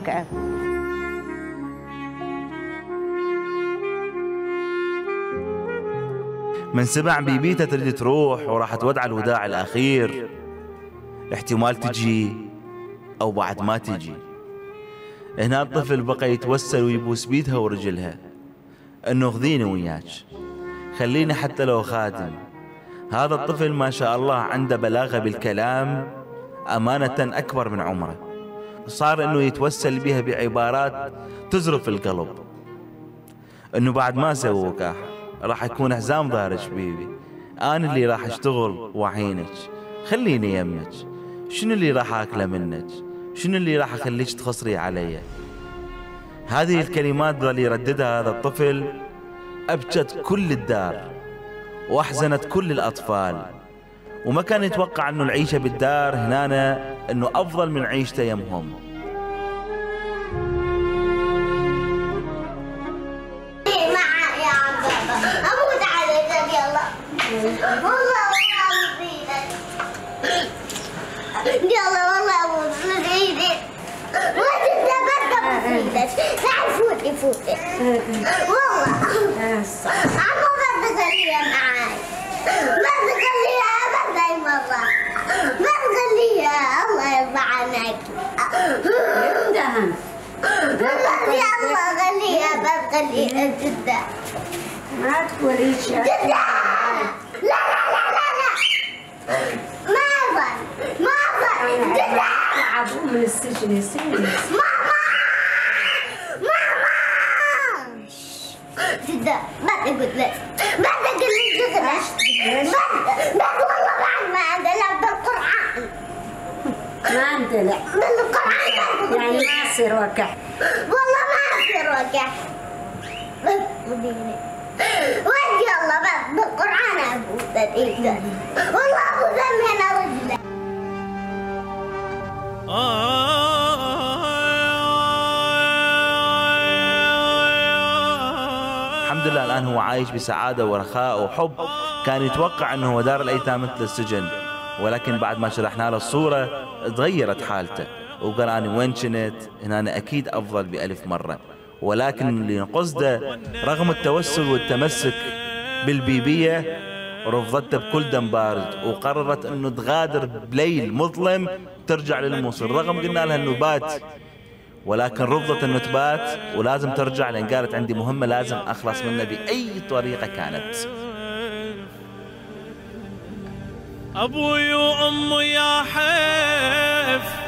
تقعد. من سمع بيبيته تريد تروح وراح تودع الوداع الأخير، احتمال تجي أو بعد ما تجي. هنا الطفل بقى يتوسل ويبوس بيدها ورجلها انه خذيني وياك، خليني حتى لو خادم. هذا الطفل ما شاء الله عنده بلاغة بالكلام أمانة أكبر من عمره، صار انه يتوسل بها بعبارات تزرف القلب، انه بعد ما سووا وكاح راح يكون حزام ظهرك بيبي، انا اللي راح اشتغل واعينك، خليني يمك، شنو اللي راح اكله منك، شنو اللي راح اخليك تخصري علي. هذه الكلمات ظل يرددها هذا الطفل، ابكت كل الدار واحزنت كل الاطفال، وما كان يتوقع انه العيشه بالدار هنا انه افضل من عيشته يمهم. يلا والله ابوس ايدك وانت بركب في ايدك. تعال فوتي فوتي والله عمو ما تخليها معاي، ما تخليها ابدا مرة، ما تخليها الله يرضى عنك. يلا خليها ما تخليها جدا، ما تقوليش جدا. لا لا لا لا لا ما أظن ما أظن جدا. طلعوا من السجن يصير. ماما ماما جدا ما تقول لك، ما تقول لي شغلة، بس والله بعد ما أندلع بالقرآن، ما اندلع بالقرآن يعني ما يصير وقع، والله ما يصير وقع. وين يلا بس بالقرآن أبوس ايدك، والله أبوس من رجله. الحمد لله الآن هو عايش بسعادة ورخاء وحب. كان يتوقع أنه هو دار الأيتام مثل السجن، ولكن بعد ما شرحنا له الصورة تغيرت حالته، وقال أنا وين كنت هنا أنا أكيد أفضل بألف مرة. ولكن اللي نقصده رغم التوسل والتمسك بالبيبية رفضته بكل دم بارد، وقررت أنه تغادر بليل مظلم ترجع للموصل، رغم قلنا لها أنه بات، ولكن رفضت أنه تبات ولازم ترجع، لأن قالت عندي مهمة لازم أخلص منها بأي طريقة كانت. أبوي وأمي يا حيف